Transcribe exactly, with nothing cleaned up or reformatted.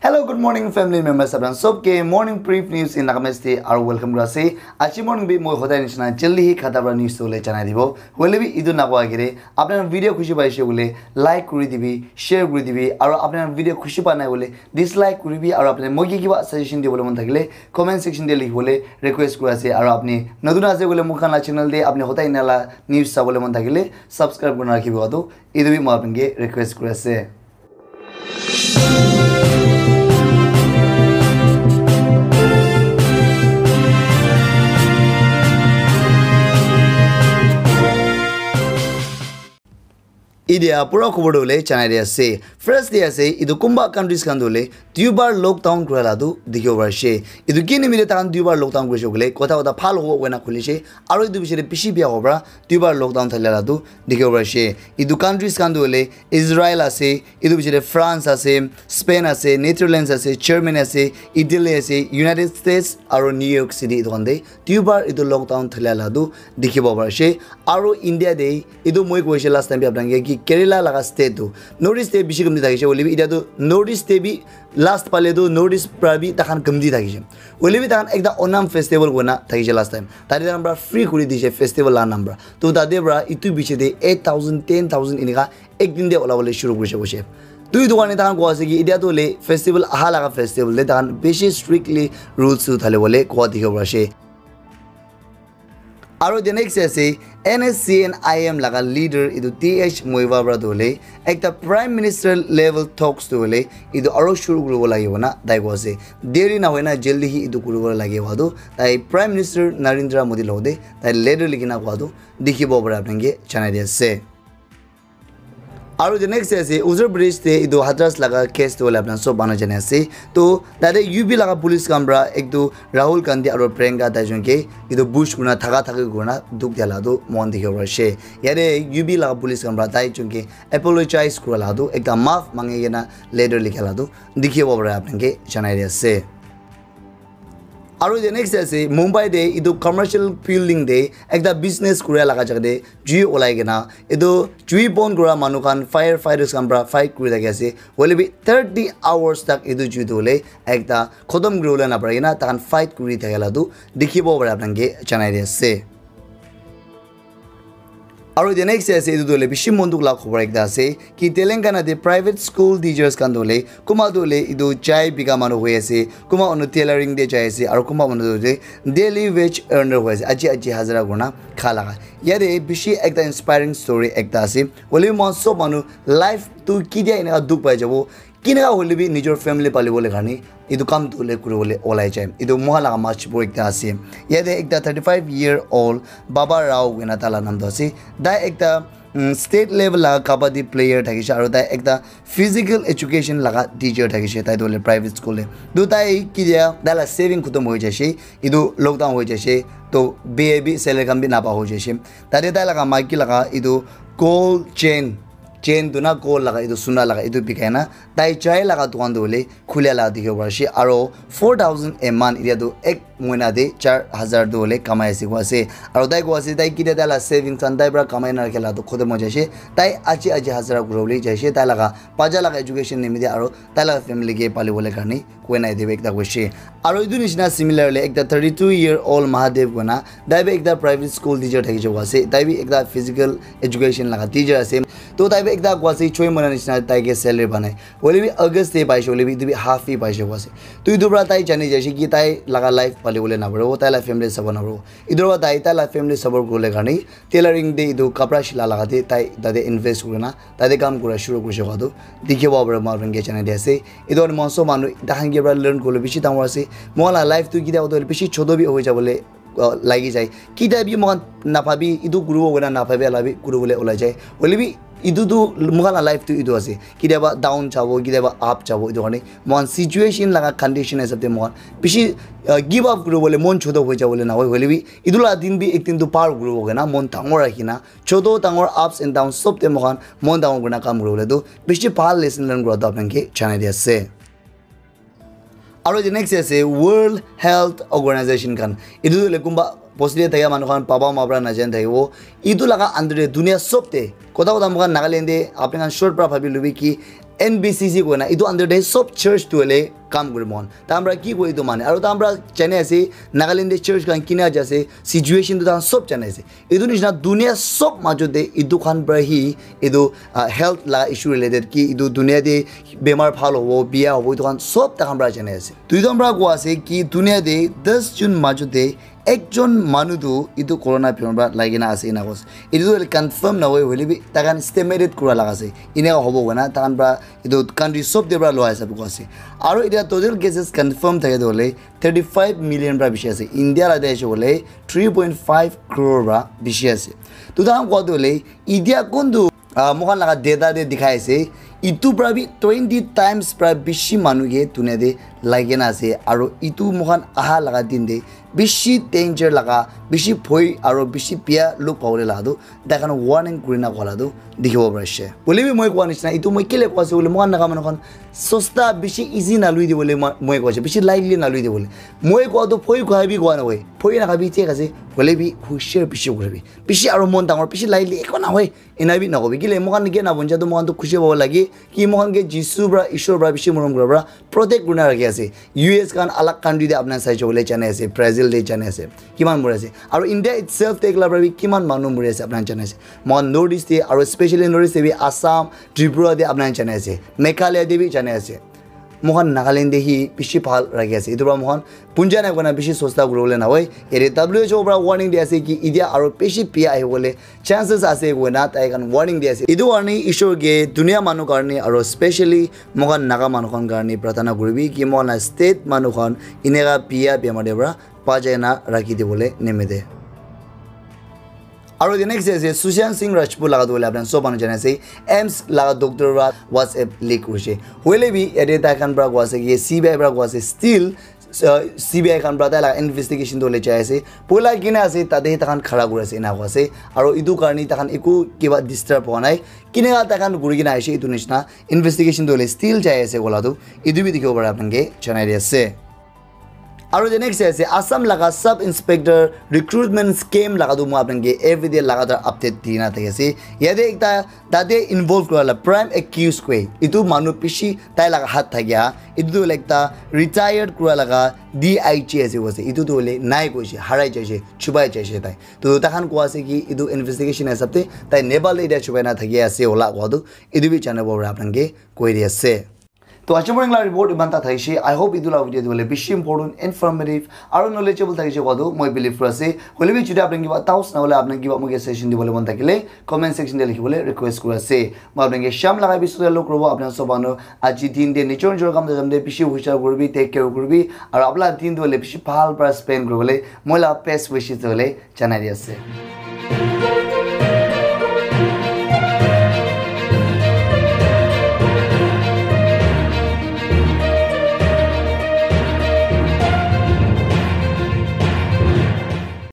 Hello, good morning, family members. Apnan sob ke morning brief news in Nagamese te aru welcome kura ase. Aji morning bi moi hodai nishina jaldi hi khata para news tole janai dibo. Hoile bi etu nakoa agere, apnan video khushi paise bole like kuri dibi, share kuri dibi, aru apnan video khushi pa nai bole dislike kuri bi, aru apnan moi ke kiba suggestion dibole mon thakile comment section te likhi bole request kura ase. Aru apni notun ase bole mukhan la channel te apni hodai nala news sabole mon thakile subscribe kurina rakhibo atu. Etu bi moi apni ke request kuri ase. Idia pura khobor tu hole janai di ase. First de ase, etu kumba countries khan tu hole duibar lockdown kura la tu dikhibo pari ase. Etu ki nimite tahan duibar lockdown kurise koile, kotha kotha bhal hobo koina khulise, aru etu bichare bishi bia hobo para duibar lockdown thalia la tu dikhibo pari ase. Etu countries khan tu hole Israel ase, etu bichare France ase, Spain ase, Netherlands ase, Germany ase, Italy ase, United States aru New York City etu khan de duibar etu lockdown thalia la tu dikhibo pari ase. Aru India de etu moi koise last time bi apnake ki Kerala laga state tu North East te bishi kamti thakise, hoile bi etia tu North East te bi last pale tu North East pra bi takhan kamti thakise. Hoile bi takhan ekta Onam festival koina thakise last time. Tate takhan pra free kuri dise festival la naam pra. To tate pra etu biche te eight thousand, ten thousand enika ek din te ola bole shuru kurise koise. To etu karne takhan koa ase ki etia tu hole festival aha laga festival te takhan bishi strictly rules tu thale bole koa dikhibo pari ase. Aru the next ase N S C N I M laga leader etu T H Muivah para tu hole ekta prime minister level talks tu hole etu aru shuru kuribo lagibo na tai koa ase. Deri na hoina jaldi hi etu kuribo lagibo tu tai prime minister Narendra Modi logote tai letter likhina koa tu dikhibo para apnake janai di ase. Aru the next ase Uttar Pradesh te etu Hathras laga case tu hole apna sob manu jane ase. To tate U P laga police khan pra ek tu Rahul Gandhi aru Priyanka tai jon ke etu push kurina thaka thaki kurina dukh dia la tu moikhan dikhibo pari ase. Yate U P laga police khan pra tai jon ke apologize kura la tu ekta maaf mangi kena letter likha la tu dikhibo pari apnake janai di ase. Aru the next ase Mumbai te etu commercial building te ekta business kuria laga jaga te jui olai kena etu jui bon kura manu khan fire fighters khan pra fight kuri thaki ase. Hoile bi thirty hours tak etu jui tu hole ekta khotom kuribole napari kena takhan fight kuri thaka la tu dikhibo pari apnake janai di ase. Aru the next ase etu tu hole bishi mon dukh la khobor ekta ase ki Telangana te private school teachers khan tu hole kunba tu hole etu chai bika manu hoi ase, kunba manu tailoring te jai ase, aru kunba manu tu hole daily wage earner hoi ase, aji aji hazara kurina kha laga. Yate bishi ekta inspiring story ekta ase. Hoile bi moikhan sob manu life tu ketia eneka dukh pai jabo, keneka hoile bi nijor family palibole karne etu kam tu hole kuribole olai jai. Etu moikhan laga Manipur ekta ase. Yate ekta thirty five year old Baba Rao koina tai la naam tu ase. Tai ekta, mm, state level laga kabaddi player thakise aru tai ekta physical education laga teacher thakise. Tai tu hole private school te. Tu tai ketia tai la saving khotom hoi jaise. Etu lockdown hoi jaise. To B A B salary khan bi napa hoi jaise. Tate tai laga maiki laga etu gold chain, chain tu na gold laga etu suna laga etu bikai na tai chai laga dukan tu hole khulia laga dikhibo pari ase. Aru four thousand a month etia tu ek mohina te char hazar tu hole kamai ase koa ase. Aru tai koa ase tai ketia tai la savings khan tai pra kamai na rakhi la tu khotom hoi jaise. Tai aji aji hazara kuribole jaise. Tai laga bacha laga education nimite aru tai laga family ke palibole karne koina etu ekta koise. Aru etu nishina similarly ekta thirty two year old Mahadev koina tai bi ekta private school teacher thakise koa ase. Tai bi ekta physical education laga teacher ase. To tai bi ekta koa ase choi mohina nishina tai ke salary banai. Hoile bi August te paise, hoile bi etu bi half hi paise koa ase. To etu pra tai jani jaise ki tai laga life palibole naparibo, tai la family sabo naparibo. Etu pra tai tai la family support kuribole karne tailoring te etu kapra sila laga te tai tate invest kurina tate kam kura shuru kurise koa tu dikhibo pari moi apnake janai di ase. Etu karne moikhan sob manu takhan ke pra learn kuribole bishi dangor ase. Moikhan la life tu ketia hoile bishi choto bi hoi jabole, uh, lagi jai. Ketia bi moikhan nabhabi etu kuribo koina nabhabi la bi kuribole olai jai. Hoile bi etu tu moikhan la life tu etu ase. Ketia ba down jabo, ketia ba up jabo, etu karne moikhan situation laga condition hisab te moikhan bishi, uh, give up kuribole mon choto hoi jabole nahoi. Hoile bi etu la din bi ek din tu par kuribo koina mon dangor rakhina choto dangor ups and downs sob te moikhan mon dangor kurina kam kuribole tu bishi bhal lesson learn kura tu apnake janai di ase. Aru the next ase World Health Organization khan. Etu tu hole kunba bosti te thaka manu khan paba ma pra najani thakibo. Etu laga under te dunia sob te kotha kotha moikhan Nagaland te apni khan short pra bhabi lobi ki N B C C koina etu under te sob church tu hoile kam kuri mon. Tahan pra ki koi etu mane. Aru tahan pra jane ase, Nagaland te church khan kina ja ase, situation tu tahan sob jane ase. Etu nishina dunia sob majot te etu khan pra hi etu, ah, health la issue related ki etu dunia te bemar bhal hobo, biya hobo, etu khan sob tahan pra jane ase. Duijon pra koa ase ki dunia te das jon majot te ekjon manu tu etu corona bemar pra lagi na ase ena koa ase. Etu tu confirm na hoi hoile bi tahan estimated kura laga ase. Ena hobo koina tahan pra etu country sob te pra lua hisab koa ase. Aru etia total cases confirm thake tu hoile thirty five million pra bishi ase. India la te ase hoile three point five crore pra bishi ase. Tu tahan koa tu hoile etia kun tu, ah, moikhan laga data te dikhai ase. Etu pra bi twenty times pra bishi manu ke dunia te lagi na ase. Aru etu moikhan aha laga din te bishi danger laga, bishi bhoi aru bishi biya look pabole laga tu taikhan warning kurina koa la tu dikhibo pari ase. Hoile bi moi koa nishina, etu moi kile koa ase hoile, moikhan Naga manu khan sosta bishi easy na lui dibole moi, moi koa ase, bishi lightly na lui dibole. Moi koa tu bhoi khabi koa na hoi, bhoi na khabi thik ase, hoile bi hushar bishi kuribi. Bishi aru mon dangor, bishi lightly eko na hoi, ena bi na kobi. Kile moikhan ke na bonja tu moikhan tu khushi pabo lage, ki moikhan ke Jisu pra, Ishwar pra bishi morom kura pra, protect kurina rakhi ase. U S khan alag country te apna sai chole jane ase, Brazil te jane ase. Kiman mori ase. Aru India itself te ekla pra bi kiman manu mori ase apna jane ase. Moikhan North East te aru specially North East te bi Assam, Tripura te apna jane ase. Meghalaya te bi jane ase. Moikhan Nagaland te hi bishi bhal rakhi ase. Etu pra moikhan punja na koina bishi sosta kuribole na hoi. Ere W H O pra warning di ase ki etia aru bishi biya ahibole chances ase koina tai khan warning di ase. Etu karne Ishwar ke dunia manu karne aru specially moikhan Naga manu khan karne prarthana kuribi ki moikhan la state manu khan eneka biya bemar te pra bachai na rakhi dibole nimite. Aru the next ase Sushant Singh Rajput laga tu hoile apna sob manu jane ase, AIIMS laga doctor pra WhatsApp leak hoise. Hoile bi yate tai khan pra koa ase ki C B I pra koa ase, still uh, C B I khan pra tai laga investigation tu hoile jai ase. Poila kina ase tate tai khan khara kuri ase ena koa ase. Aru etu karne tai khan eku kiba disturb howa nai. Kina tai khan kuri kina aise etu nishina investigation tu hoile still jai ase koa la tu etu bi dikhibo pare apna ke janai di ase. Aru the next ase Assam laga sub inspector recruitment scam laga tu moi apna ke everyday lagatar update di na thaki ase. Yate ekta tate involve kura la prime accused koi etu manu bishi tai laga hat thakia etu tu hoile ekta retired kura laga D I G ase koise. Etu tu hoile nai koise, harai jaise, chubai jaise tai. Tu tai khan koa ase ki etu investigation hisab te tai Nepal te etia chubai na thaki ase hola koa tu etu bi janabo pare apna ke koi di ase. To aji morning la report iman ta thaise. I hope etu la video tu hoile bishi important, informative aru knowledgeable thaise koa tu moi believe kuri ase. Hoile bi jodi apna kiba doubts na hoile apna kiba moi ke suggestion dibole mon thakile comment section te likhibole request kuri ase. Moi apna ke sham laga episode te log kuribo. Apna sob manu aji din te nijor nijor kam te jam te bishi hushar kuribi, take care kuribi aru apna din tu hoile bishi bhal pra spend kuribole moi la best wishes tu hoile janai di ase.